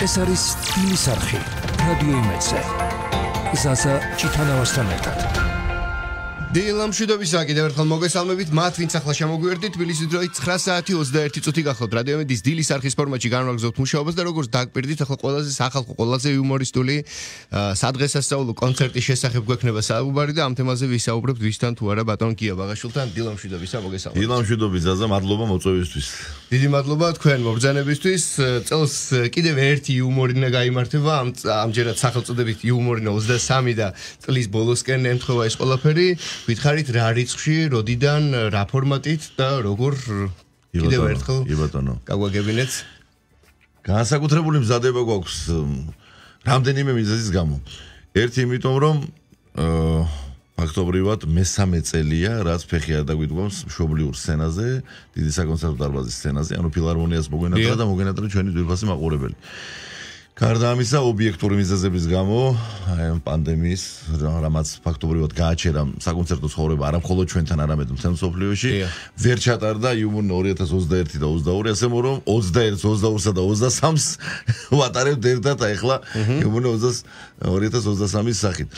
ეს არის სტილის არხი რადიო იმედზე. ზაზა ჩიტანავასთან ერთად. დილამშვიდობისა კიდევ ერთხელ მოგესალმებით მათ ვინც ახლა შემოგვიერთდით თბილისის დროით 9 საათი 21 წუთი გახლავთ რადიო იმედის დილის არხის ფორმატში განვაგრძობთ მუშაობას და როგორც დაგპირდით ახლა ყველაზე სახალხო ყველაზე იუმორისტული სადღესასწაულო კონცერტის შესახებ გვექნება საუბარი და ამ თემაზე ვისაუბრებთ ვისთან თუ არა ბატონ გია ბაღაშვილთან დილამშვიდობისა მოგესალმებით. დილამშვიდობი ზაზა მადლობა მოწვევისთვის. დიდი მადლობა თქვენ მობრძანებისთვის. წელს კიდევ ერთი იუმორინა გაიმართება ამჯერად სახელწოდებით იუმორინა 23 და წლის ბოლოსკენ ემთხვევა ეს ყველაფერი. Ვითხარით რა რიცხვში, როდიდან, რა ფორმატით და როგორ კიდევ ერთხელ გაგვაგებინეთ. განსაკუთრებული მზადება გვაქვს რამდენიმე მიზეზის გამო. ერთი იმიტომ რომ ფაქტობრივად მესამე წელია, რაც ფეხი არ დაგვიდგამს მშობლიურ სცენაზე, დიდი საკონცერტო დარბაზის სცენაზე, ანუ ფილარმონიას მოგვენატრა და მოგვენატრა ჩვენი ძვირფასი მაყურებელი. გარდა ამისა, ობიექტური მიზეზების გამო, პანდემიის, რამაც ფაქტობრივად გააჩერა საკონცერტო ცხოვრება არა მხოლოდ ჩვენთან, არამედ მთელ მსოფლიოში, ვერ ჩატარდა იუმორ 2021 და 22, ასე რომ 21, 22-სა და 23-ს ვატარებთ ერთად ახლა იუმორ 2023-ის სახით.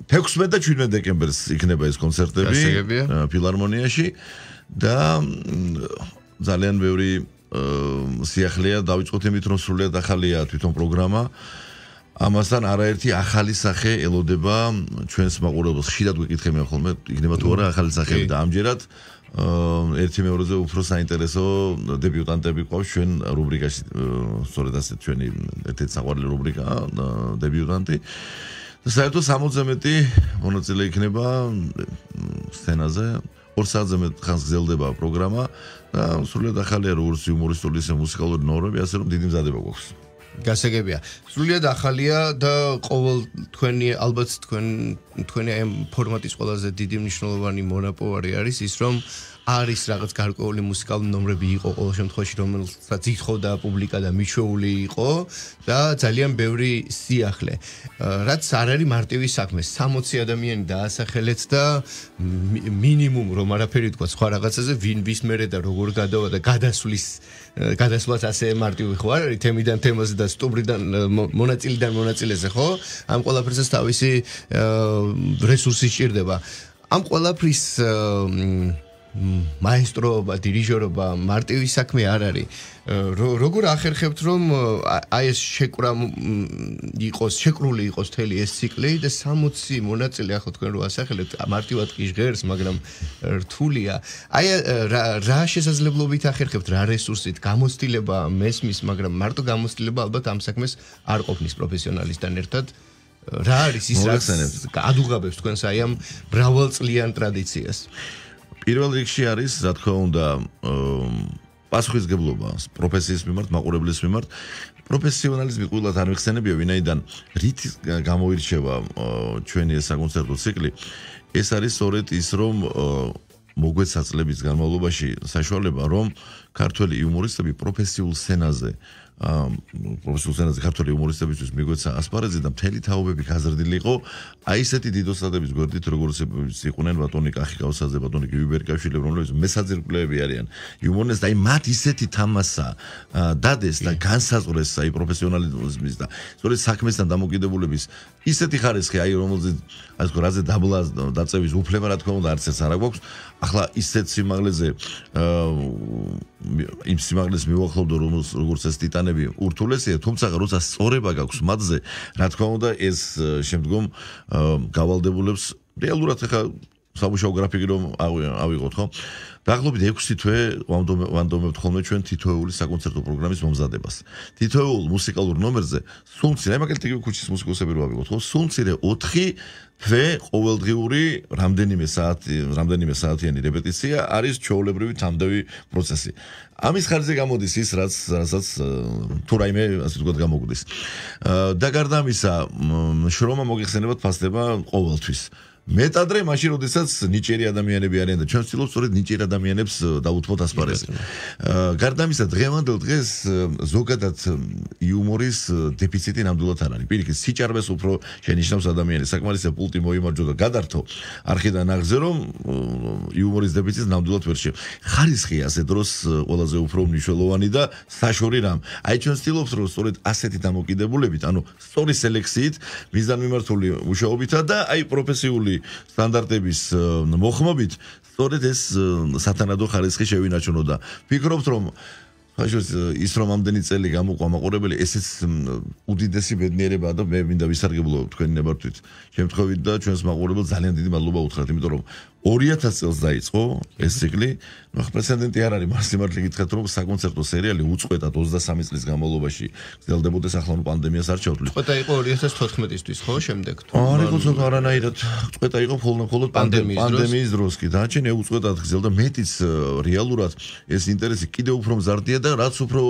16 და 17 დეკემბერს იქნება ეს კონცერტები ფილარმონიაში და ძალიან ბევრი სიახლეა დავიწყოთ იმით რომ სრულიად ახალია თვითონ პროგრამა. ამასთან არაერთი ახალი სახე ელოდება ჩვენს მაყურებელს. ხშირად ვიკითხე მე ხოლმე იქნება თუ არა ახალი სახეები და ამჯერად ერთი მეორეზე უფრო საინტერესო დებიუტანტები ყავს ჩვენ რუბრიკაში. სწორედ ასე ჩვენი ერთ-ერთი საყვარელი რუბრიკა დებიუტანტი. და საერთოდ 60-ზე მეტი მონაწილე იქნება სცენაზე. 2 საათზე მეტ ხანს გრძელდება პროგრამა და სრულიად ახალია როგორც იუმორისტული ისე მუსიკალური ნორმები, ასე რომ დიდი მზადება გვაქვს. გასაგებია. სრულიად ახალია და ყოველ თქვენი ალბათ თქვენი ამ ფორმატის ყველაზე დიდი მნიშვნელოვანი მონაპოვარი არის ის რომ არის რაღაც გარკვეული მუსიკალური ნომრები იყო ყოველ შემთხვევაში რომელსაც ითხოვდა პუბლიკა და მიჩვეული იყო და ძალიან ბევრი სიახლე. რაც არ არის მარტივი საქმე. 60 ადამიანი დაასახელეთ და მინიმუმ რომ არაფერი თქვა სხვა რაღაცაზე ვინ ვის მერე და როგორ გადავა და გადასვლაც ასე მარტივი ხო არ არის თემიდან თემაზე და სტუბრიდან მონაწილიდან მონაწილეზე ხო? ამ ყველაფერზე თავისი რესურსი სჭირდება. ამ ყველაფრის მაესტროობა, დირიჟორობა მარტივი საქმე არ არის. როგორ ახერხებთ რომ აი ეს შეკრული იყოს თელი ეს ციკლი და 60 მონაწილე ახლა თქვენ რო ასახელებთ მარტივად კი ჟღერს, მაგრამ რთულია. აი რა შესაძლებლობით ახერხებთ, რა რესურსით, გამოცდილება მესმის, მაგრამ მარტო გამოცდილება ალბათ ამ საქმეს არ ყოფნის პროფესიონალისთან ერთად. რა არის ის რაც ადუღაბებს თქვენს აი ამ მრავალწლიან ტრადიციას? პირველ რიგში არის, რა თქმა უნდა, პასუხისმგებლობა პროფესიის მიმართ, მაყურებლის მიმართ. პროფესიონალიზმი ყოველად არ მიხსენებია, ვინაიდან რით გამოირჩევა ჩვენი ეს საკონცერტო ციკლი. ეს არის სწორედ ის, რომ მოგვეცა წლების განმავლობაში საშუალება, რომ ქართველი იუმორისტები პროფესიულ სცენაზე ქართველი იუმორისტებისთვის მიგვეცა ასპარეზი და მთელი თაობები გაზრდილი იყო აი ესეთი დიდოსადების გვერდით როგორც იყვნენ ბატონი კახიკავსაძე, ბატონი გივიბერკაშვილი, რომლებიც მესაძირკვლეები არიან იუმორნეს და აი მათ ისეთი თამასა დადეს და განსაზღვრეს აი პროფესიონალიზმის და სწორედ საქმესთან დამოკიდებულების ისეთი ხარისხი აი რომელზეც ასე ვთქვათ რაზე დაწევის უფლება რა თქმა უნდა არც ეს არ აქვს. ახლა ისეთ სიმაღლეზე იმ სიმაღლეს მივახლოვდო როგორც ეს ტიტანები ურთულესია, თუმცა როცა სწორება გაქვს მათზე, რა თქმა უნდა ეს შემდგომ გავალდებულებს რეალურად ახლა სამუშაო გრაფიკი რომ ავიღოთ, ხო? დაახლოებით 6 თვე ვანდომებთ ხოლმე ჩვენ თითოეული საკონცერტო პროგრამის მომზადებას. თითოეულ მუსიკალურ ნომერზე სულ მცირე, მაგალითად იგივე ქუჩის მუსიკოსები რო ავიღოთ, ხო? სულ მცირე 4 თვე ყოველდღიური რამდენიმე საათიანი რეპეტიცია არის ჩვეულებრივი თამდევი პროცესი. ამის ხარჯზე გამოდის ის, რასაც თუ რაიმე ასე ვთქვათ გამოგვდის. და გარდა ამისა, შრომა მოგეხსენებათ ფასდება ყოველთვის. მეტადრე მაშინ როდესაც ნიჭიერი ადამიანები არიან და ჩვენ ვცდილობთ სწორედ ნიჭიერ ადამიანებს დაუთმოთ ასპარეზზე. გარდა ამისა დღევანდელ დღეს ზოგადად იუმორის დეფიციტი ნამდვილად არ არის. პირიქით სიჭარბეს უფრო შენიშნავს ადამიანის საკმარისი პულტი მოიმარჯვა და გადართო არხიდან აღზე რომ იუმორის დეფიციტს ნამდვილად ვერ შევა. ხარისხი ასე დროს ყველაზე უფრო მნიშვნელოვანი და საშორი რამ. აი ჩვენ ვცდილობთ რომ სწორედ ასეთი დამოკიდებულებით, ანუ სწორი სელექციით, მიზანმიმართული მუშაობითა და აი პროფესიული სტანდარტების მოხმობით სწორედ ეს სათანადო ხარისხი შევინარჩუნო და ვფიქრობთ რომ ის რომ ამდენი წელი გამოყვა მაყურებელი ესეც უდიდესი ბედნიერებაა და მე მინდა ვისარგებლო თქვენი ნებართვით შემთხვევით და ჩვენს მაყურებელს ძალიან დიდი მადლობა უთხრათ იმიტომ რომ 2000 წელს დაიწყო ეს ციკლი ნუ პრეცედენტი არ არის მას სიმართლე გითხრათ რომ საკონცერტო სერიალი უწყვეტად 23 წლის განმავლობაში გრძელდებოდეს ახლა ნუ პანდემიას არ ჩავთვლით უწყვეტა იყო 2014-ისთვის ხო შემდეგ არ იყო ცოტა არანაირად უწყვეტა იყო მხოლოდ პანდემიის დროს კი დაჩენე უწყვეტად გრძელდა მეტიც რეალურად ეს ინტერესი კიდევ უფრო მზარდია და რაც უფრო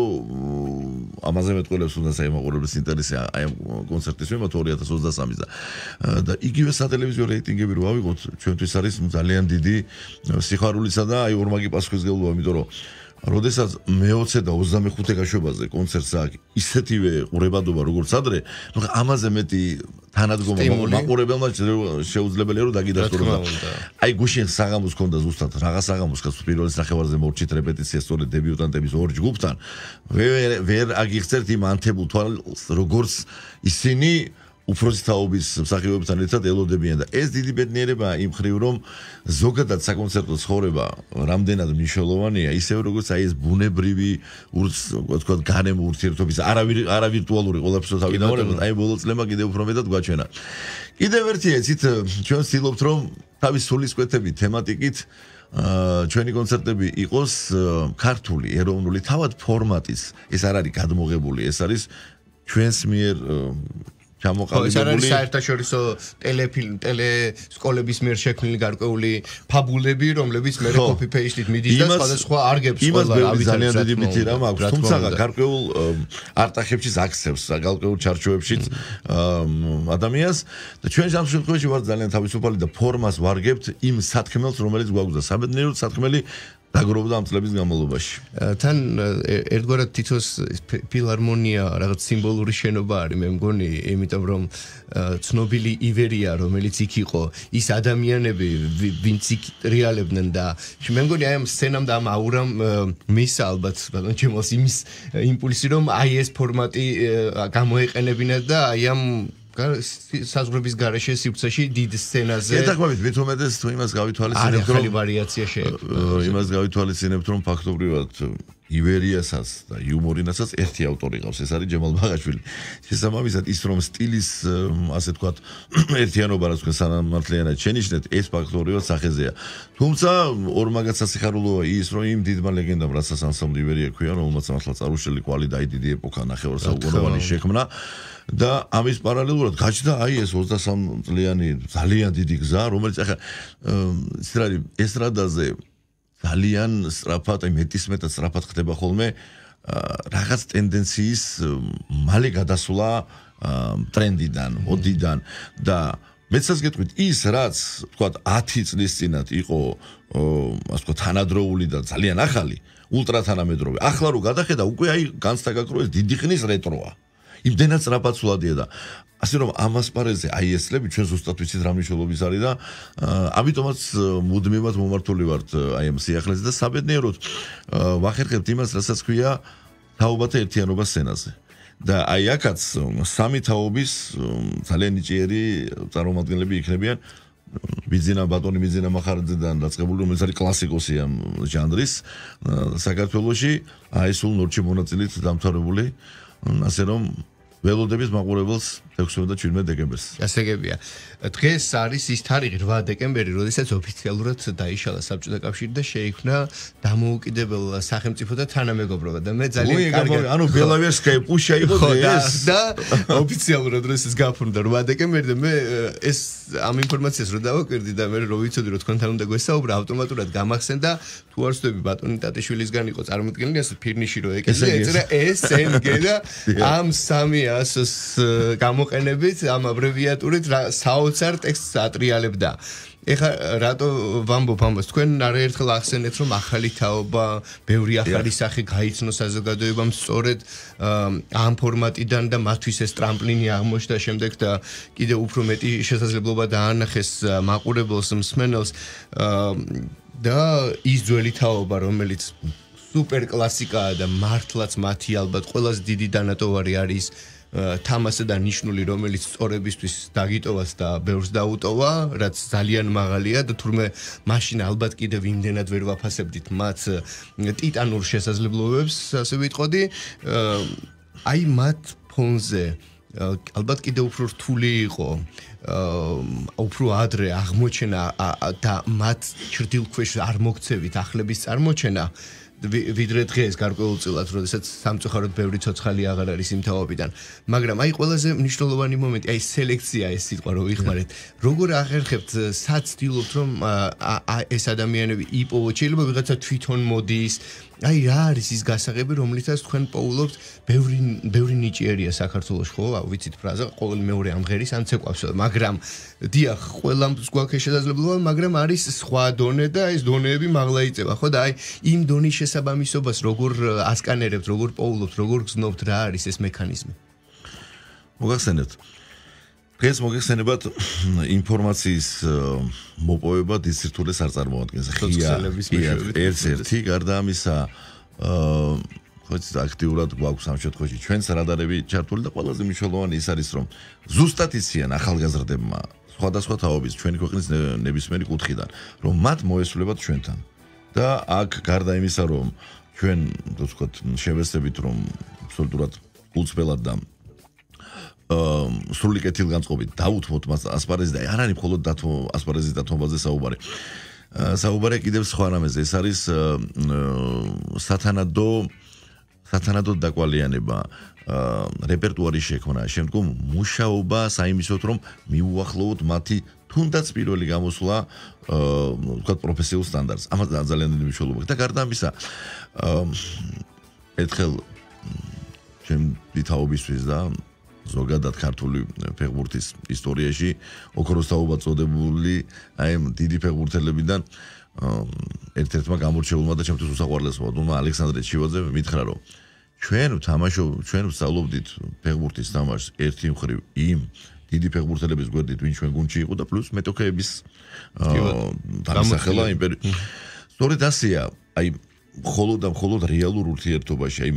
ამაზე მეტყველებს უნდა საიმაყურებლის ინტერესი აი ამ კონცერტის მიმართ 2023-ის და იგივე სატელევიზიო რეიტინგები რო ავიღოთ ჩვენთვის არის ძალიან დიდი სიხარულისა და აი ორმაგი პასუხისმგებლობა, იმიტომ რომ როდესაც მე-20 და 25 გაშვებაზე კონცერტს აქვს ისეთივე ყურებადობა როგორც ადრე, ნუ ამაზე მეტი თანადგომა მაყურებელმა შეუძლებელია რომ დაგიდასტუროს. აი გუშინ საღამოს ქონდა ზუსტად რაღაც საღამოს კაც პირველი სახევარზე მორჩით რეპეტიცია სწორედ დებიუტანტების ორ ჯგუფთან. ვერ აგიხსენებთ იმ ანთებულ თვალს როგორც ისინი უფროსი თაობის მსახიობებთან ერთად ელოდებიან და ეს დიდი ბედნიერებაა იმ მხრივ რომ ზოგადად საკონცერტო ცხოვრება რამდენად მნიშვნელოვანია ისევ როგორც აი ეს ბუნებრივი ვთქვათ გარემო ურთიერთობის არავირტუალური ყველაფერს თავიდანვე აი ბოლო წლება კიდევ უფრო მეტად გვაჩვენა. კიდევ ერთი ეცით ჩვენ ვცდილობთ რომ თავის სულისკვეთები თემატიკით ჩვენი კონცერტები იყოს ქართული ეროვნული თავად ფორმატის ეს არ არის გადმოღებული ეს არის ჩვენს მიერ ეს არის საერთაშორისო ტელესკოლების მიერ შექმნილი გარკვეული ფაბულები, რომლებიც მე copy paste-ით მიდის და სხვადასხვა არგებს ყველა ავიცი ძალიან დიდი მითი რამ აქვს. თუმცა გარკვეულ არტახებში აქცევს, გარკვეულ ჩარჩოებში ადამიანს და ჩვენ ამ შემთხვევაში ვართ ძალიან თავისუფალი და ფორმას ვარგებთ იმ სათქმელს, რომელიც გვაქვს და საბედნიეროდ სათქმელი დაგროვდა ამ წლების განმავლობაში. თან ერთგვარად თითოს ფილარმონია რაღაც სიმბოლური შენობა არის მე მგონი, იმიტომ რომ ცნობილი ივერია, რომელიც იქ იყო, ის ადამიანები, ვინც იქ რეალებდნენ და მე მგონი აი ამ სცენამ და ამ აურამ მისცა ალბათ ბატონ ჩემოს იმის იმპულსი რომ აი ეს ფორმატი გამოეყენებინა და აი ამ საზღვრების გარეშე სივრცეში დიდ სცენაზე ეთაქვით მით უმეტეს თუ იმას გავითვალისწინებთ რომ ვარიაცია შეექმნა იმას გავითვალისწინებთ რომ ფაქტობრივად ივერიასაც და იუმორინასაც ერთი ავტორი ყავს ეს არის ჯემალ ბაღაშვილი შესაბამისად ის რომ სტილის ასე თქვათ ერთიანობა რაც თქვენ სანამართლიანად შენიშნეთ ეს ფაქტობრივად სახეზეა თუმცა ორმაგად სასიხარულოა ის რომ იმ დიდმა ლეგენდამ რასაც ანსამბლი ივერია ქვია რომელმაც ახლა წარუშელი კვალი და დიდი ეპოქა ნახევარსაუკუნოვანი შექმნა და ამის პარალელურად გაჩნდა აი ეს 23 წლიანი ძალიან დიდი გზა რომელიც ახლა ესტრადაზე ძალიან სწრაფად აი მეტისმეტად სწრაფად ხდება ხოლმე რაღაც ტენდენციის მალე გადასვლა ტრენდიდან, მოდიდან და მეცას გეტყვით ის რაც თქვა 10 წლის წინათ იყო ასე თქვა თანადროული და ძალიან ახალი ულტრა თანამედროვე ახლა რო გადახედა უკვე აი განცდა გაკროეს დიდი ხნის რეტროა იმდენად სწრაფად სულადია და ასე რომ ამას პარეზე აი ეს წლები ჩვენ ზუსტად ვიცით რა მნიშვნელობის არის და ამიტომაც მუდმივად მომართული ვართ აი ამ სიახლეზე და საბედნიეროდ ვახერხებთ იმას რასაც ქვია თაობათა ერთიანობა სცენაზე და აი აქაც სამი თაობის ძალიან ნიჭიერი წარმომადგენლები იქნებიან ბიძინა ბატონი ბიძინა მახარაძედან დაწყებული რომელიც არის კლასიკოსი ამ ჟანრის საქართველოში აი სულ ნორჩი მონაწილით დამთავრებული ასე რომ ველოდების მაყურებელს 16 და 17 დეკემბერს. ასეგებია. დღეს არის ის თარიღი 8 დეკემბერი, როდესაც ოფიციალურად დაიშალა საბჭოთა კავშირი და შეიქმნა დამოუკიდებელ სახელმწიფო და თანამეგობრობა და მე ძალიან კარგად ანუ ბელავერსკაია პუშა იყო ეს და ოფიციალურად როდესაც გაფორმდა 8 დეკემბერი და მე ეს ამ ინფორმაციას რო დავაკვირდი და მე რო ვიცოდი რომ თქვენთან უნდა გვესაუბრა ავტომატურად გამახსენდა თუ არ ვსწრები ბატონი ტატიშვილისგან იყო წარმოქმნილი ასე ფირნიში რო ეკეზე ეწერა SNG და ამ სამი ასოს გამოყენებით ამ აბრევიატურით საოცარ ტექსტს ატრიალებდა. ეხლა რატო ვამბობ ამას თქვენ არაერთხელ ახსენეთ რომ ახალი თაობა, ბევრი ახალი სახე გაიცნო საზოგადოებამ სწორედ ამ ფორმატიდან და მათთვის ეს ტრამპლინი აღმოჩნდა შემდეგ და კიდევ უფრო მეტი შესაძლებლობა დაანახეს მაყურებელს, მსმენელს და ის ძველი თაობა რომელიც სუპერ კლასიკაა და მართლაც მათი ალბათ ყველაზე დიდი დანატოვარი არის თამასა და ნიშნული რომელიც სწორებისთვის დაგიტოვას და ბევრს დაუტოვა, რაც ძალიან მაღალია და თურმე მაშინ ალბათ კიდევ იმდენად ვერ ვაფასებდით მათ ტიტანურ შესაძლებლობებს, ასე ვიტყოდი. აი მათ ფონზე ალბათ კიდევ უფრო რთული იყო უფრო ადრე აღმოჩენა და მათ ჭრდილქვეშ არ მოგცევით ახლების წარმოჩენა ვიდრე დღეს გარკვეულწილად, როდესაც სამწუხაროდ ბევრი ცოცხალი აღარ არის იმ თაობიდან. მაგრამ აი ყველაზე მნიშვნელოვანი მომენტი, აი სელექცია ეს სიტყვა რო ვიხმარეთ. როგორ აღერხებთ, სად ცდილობთ რომ ეს ადამიანები იპოვოთ? შეიძლება ვიღაცა თვითონ მოდის. აი რა არის ის გასაღები, რომლითაც თქვენ პოულობთ, ბევრი ნიჭიერია საქართველოს, ხო? ვიცით ფრაზა, ყოველი მეორე ამღერის ან ცეკვავს, მაგრამ დიახ, ყველამ გვაქვს შესაძლებლობა, მაგრამ არის სხვა დონე და ეს დონეები მაღლა იწევა, ხო? და აი იმ დონის შესაბამისობას როგორ ასკანერებთ, როგორ პოულობთ, როგორ გზნობთ, რა არის ეს მექანიზმი? მოგახსენებთ. დღეს მოგეხსენებათ ინფორმაციის მოპოვება დისცირთულეს არ წარმოადგენს. ერთ-ერთი გარდა ამისა ხო აქტიურად გვაქვს ამ შემთხვევაში ჩვენს რადარები ჩართული და ყველაზე მნიშვნელოვანი ის არის რომ ზუსტად იციან ახალგაზრდებმა სხვადასხვა თაობის ჩვენი ქვეყნის ნებისმიერი კუთხიდან რომ მათ მოესწრებათ ჩვენთან და აქ გარდა იმისა რომ ჩვენ ვთქვათ შევეცდებით რომ აბსოლუტურად გულწრფელად და სრული კეთილგანწყობით დაუთმოთ მას ასპარეზი და არ არის მხოლოდ ასპარეზის დათმობაზე საუბარი. საუბარი კიდევ სხვა რამეზე, ეს არის სათანადო დაკვალიანება, რეპერტუარის შექმნა, შემდგომ მუშაობა საიმისოდ რომ მიუახლოვოთ მათი თუნდაც პირველი გამოსვლა ვთქვათ პროფესიულ სტანდარტს. ამას ძალიან დიდი მნიშვნელობა აქვს და გარდა ამისა ერთხელ ჩემი თაობისთვის და ზოგადად ქართული ფეხბურთის ისტორიაში ოქროს თაობა წოდებული აი დიდი ფეხბურთელებიდან ერთ-ერთმა გამორჩეულმა და ჩემთვის უსაყვარლესმა დუმა ალექსანდრე ჩივაძე მითხრა რომ ჩვენ ვსწავლობდით ფეხბურთის თამაშს ერთი მხრივ იმ დიდი ფეხბურთელების გვერდით ვინ ჩვენ გუნდში იყო და პლუს მეტოქეების დამსახელა იმპერი სწორედ ასეა აი მხოლოდ რეალურ ურთიერთობაში აი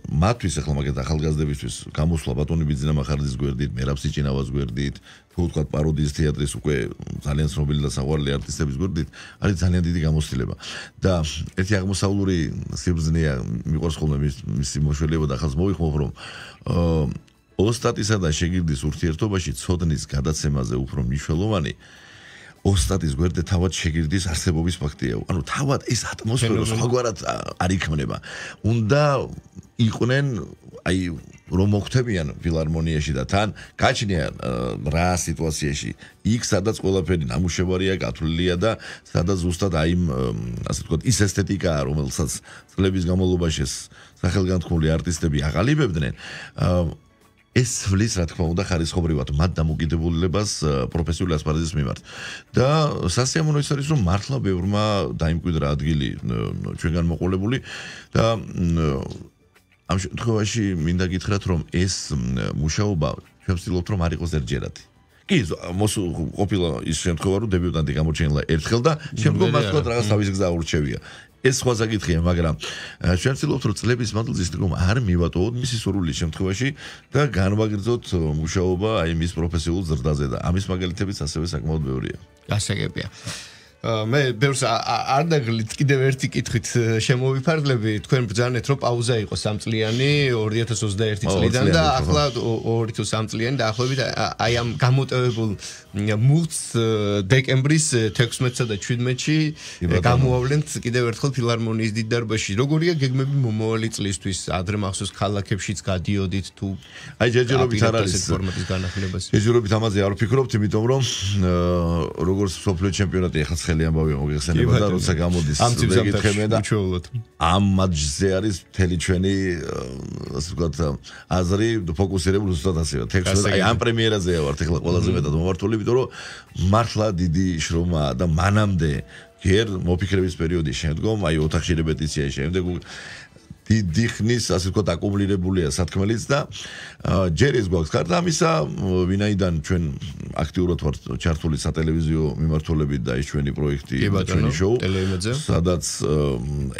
მათთვის ახლა მაგათ ახალგაზრდებისთვის გამოსვლა ბატონი ბიძინა მახარაძის გვერდით, მერაბ სიჭინავას გვერდით, თუ ვთქვათ პაროდიის თეატრის უკვე ძალიან ცნობილი და საყვარელი არტისტების გვერდით, არის ძალიან დიდი გამოცდილება. და ერთი აღმოსავლური სიბრძნეა მიყვარს ხოლმე მისი მოშველება და ახალს მოვიხმობ რომ ოსტატისა და შეგირდის ურთიერთობაში ცოდნის გადაცემაზე უფრო მნიშვნელოვანი ოსტატის გვერდზე თავად შეგირდის არსებობის ფაქტია. ანუ თავად ეს ატმოსფერო სხვაგვარად არ იქმნება. უნდა იყვნენ აი რომ მოხვდებიან ფილარმონიაში და თან გაჩნიან რა სიტუაციაში იქ სადაც ყველაფერი ნამუშევარია, გათვლილია და სადაც ზუსტად აი ასე ვთქვათ ის ესთეტიკაა, რომელსაც წლების განმავლობაში სახელგანთქმული არტისტები აღალიბებდნენ. ეს ვლის რა თქმა უნდა ხარისხობრივად მათ დამოკიდებულებას პროფესიული ასპარეზის მიმართ და სასიამოვნო ის არის რომ მართლა ბევრმა დაიმკვიდრა ადგილი ჩვენგან მოყოლებული და ამ შემთხვევაში მინდა გითხრათ რომ ეს მუშაობა ჩვენ ვცდილობთ რომ არ იყოს ერთჯერადი კი ყოფილა ის შემთხვევა რომ დებიუტანტი გამოჩენილა ერთხელ და შემდგომ მას თქვა რაღაც თავის გზა ურჩევია ეს სხვა საკითხია, მაგრამ ჩვენ ვცდილობთ რომ წლების მანძილზე ისეთქომ არ მივატოვოთ მისი სურვილის შემთხვევაში და განვაგრძოთ მუშაობა აი მის პროფესიულ ზრდაზე და ამის მაგალითებიც ასევე საკმაოდ ბევრია. გასაგებია. მე ბევრს არ დაგლით კიდევ ერთი კითხვით შემოვიფარგლები თქვენ ბრძანეთ რომ პაუზა იყო 3 წლიანი 2021 წლიდან და ახლა 2 თუ 3 წლიანი დაახლოებით აი ამ გამოტევებულ მუხტს დეკემბრის 16-სა და 17-ში გამოავლენთ კიდევ ერთხელ ფილარმონიის დიდ დარბაზში. როგორია გეგმები მომავალი წლისთვის? ადრე მახსოვს ქალაქებშიც გადიოდით თუ აი ჯერჯერობით არ არის ფორმატის განახლებას. ჯერჯერობით ამაზე არ ვფიქრობთ, იმიტომ რომ როგორც სოფლიო ჩემპიონატი ახლა ხელი ამბავია მოგეხსენება და როცა გამოდის მეკითხებიან და ამ მატჩზე არის მთელი ჩვენი ასე ვთქვათ აზრი ფოკუსირებული ზუსტად ასეა ტექსტზე აი ამ პრემიერაზეა ვართ ეხლა ყველაზე მეტად მომართული იმიტომ რომ მართლა დიდი შრომაა და მანამდე ჯერ მოფიქრების პერიოდის შემდგომ აი ოთახში რეპეტიციის შემდეგ დიდი ხნის ასე ვთქვათ აკუმულირებულია სათქმელიც და ჯერ ეს გვაქვს გარდა ამისა ვინაიდან ჩვენ აქტიურად ვართ ჩართული სატელევიზიო მიმართულებით და ეს ჩვენი პროექტი ჩვენი შოუ სადაც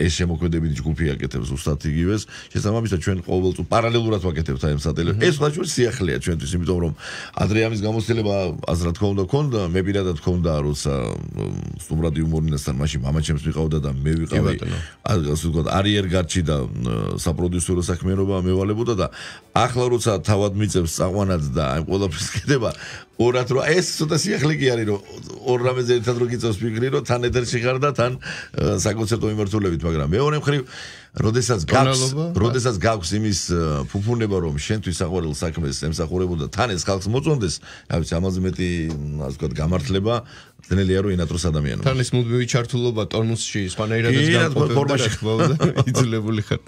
ეს შემოქმედებითი ჯგუფი აკეთებს ზუსტად იგივეს შესაბამისად ჩვენ ყოველწლიურად პარალელურად ვაკეთებთ აი ამ სატელევიზიო ეს სხვა ჩვენ სიახლეა ჩვენთვის იმიტომ რომ ადრე ამის გამოცდილება აზრად ქონდა მე პირადად ქონდა როცა სტუმრად იუმორინასთან მაშინ მამაჩემს მიყავდა და მე ვიყავი ასე ვთქვათ არიერგარდში და საპროდიუსერო საქმიანობა მევალებოდა და ახლა როცა თავად მიწევს წაყვანად და აი ყველაფერს კეთება ორად რომ ეს ცოტა სიახლე კი არის რომ ორ რამეზე ერთად რო გიწევს ფიქრი რომ თან ეთერში ხარ და თან საკონცერტო მიმართულებით მაგრამ მეორე მხრივ როდესაც გაქვს იმის ფუფუნება რომ შენთვის საყვარელ საქმეს ემსახურებოდა თან ეს ხალხს მოწონდეს აი ამაზე მეტი ასე ვთქვათ გამართლება ძნელია რომ ინატროს ადამიანებს თან ეს მუდმივი ჩართულობა ტონუსში სხვანაირადაც გამყოფდება იძლებული ხარ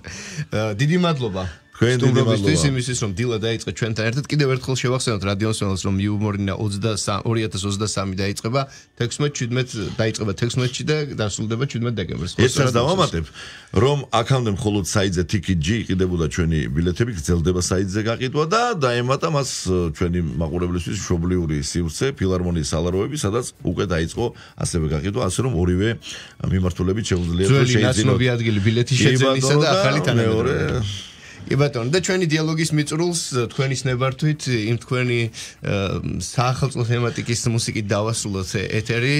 დიდი მადლობა სტუმრობისთვის იმისთვის რომ დილა დაიწყე ჩვენთან ერთად კიდევ ერთხელ შევახსენოთ რადიოსმენელს რომ იუმორინა 2023 დაიწყება 16-17 დაიწყება 16-ში და დასრულდება 17 დეკემბერს ესაც დავამატებ რომ აქამდე მხოლოდ საიტზე TicketG იყიდებოდა ჩვენი ბილეთები გრძელდება საიტზე გაყიდვა და დაემატა მას ჩვენი მაყურებლისთვის მშობლიური სივრცე ფილარმონიის სალაროები სადაც უკვე დაიწყო ასევე გაყიდვა ასე რომ ორივე მიმართულებით შეუძლიათ ძველი ნაცნობი ადგილი ბილეთის შეძენისა და ახალი თანამედროვე კი ბატონო და ჩვენი დიალოგის მიწურულს თქვენის ნებართვით იმ თქვენი საახალწლო თემატიკის მუსიკით დავასრულოთ ეთერი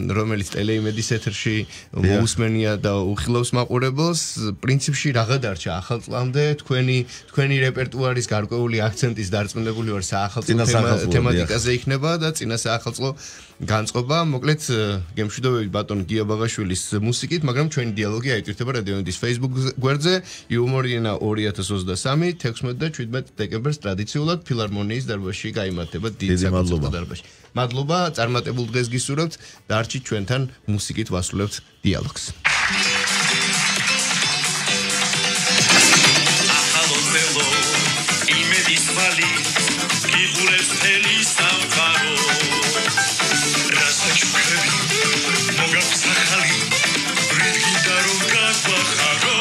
რომელიც ტელეიმედის ეთერში მოусმენია და უხილავს მაყურებელს პრინციპში რაღა დარჩა ახალწლამდე თქვენი რეპერტუარის გარკვეული აქცენტის დარწმუნებული ვარ საახალწლო თემატიკაზე იქნება და წინა საახალწლო განწყობა მოკლედ გემშვიდობებით ბატონ გია ბაღაშვილის მუსიკით მაგრამ ჩვენი დიალოგი აიტვირთება რადიონის Facebook გვერდზე იუმორინა 2023 16 და 17 დეკემბერს ტრადიციულად ფილარმონიის დარბაზში გაიმართება დიდ საკონცერტო დარბაზში. მადლობა, წარმატებულ დღეს გისურვებთ და არჩით ჩვენთან მუსიკით ვასრულებთ დიალოგს. ახალოდელო იმედის ვალი გიღურებს თელი სამყარო რასაჩუქები მოგაქვს ახალი ბრიდგინდა რომ გაგვახარო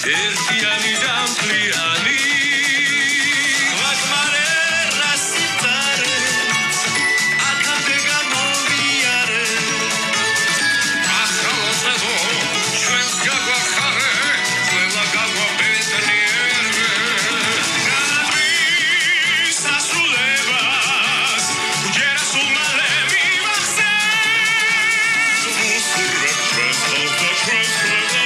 ერთიანი და მთლიანი ვაკმარე რასიტარე აქამდე გამოვიარე ახალწლო ჩვენს გაგვახარე ყველა გაგვაბედნიერე გადის ასრულებას უჯერა სულმალე მივახსენს უსურვებ ჩვენს ხალხს და ჩვენს ქვეყანას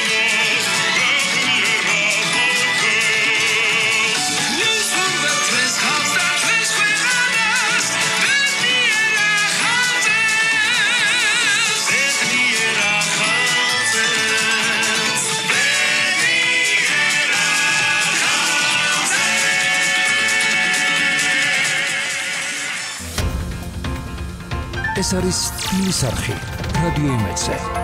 ეს არის ტივის არხი რადიო იმედზე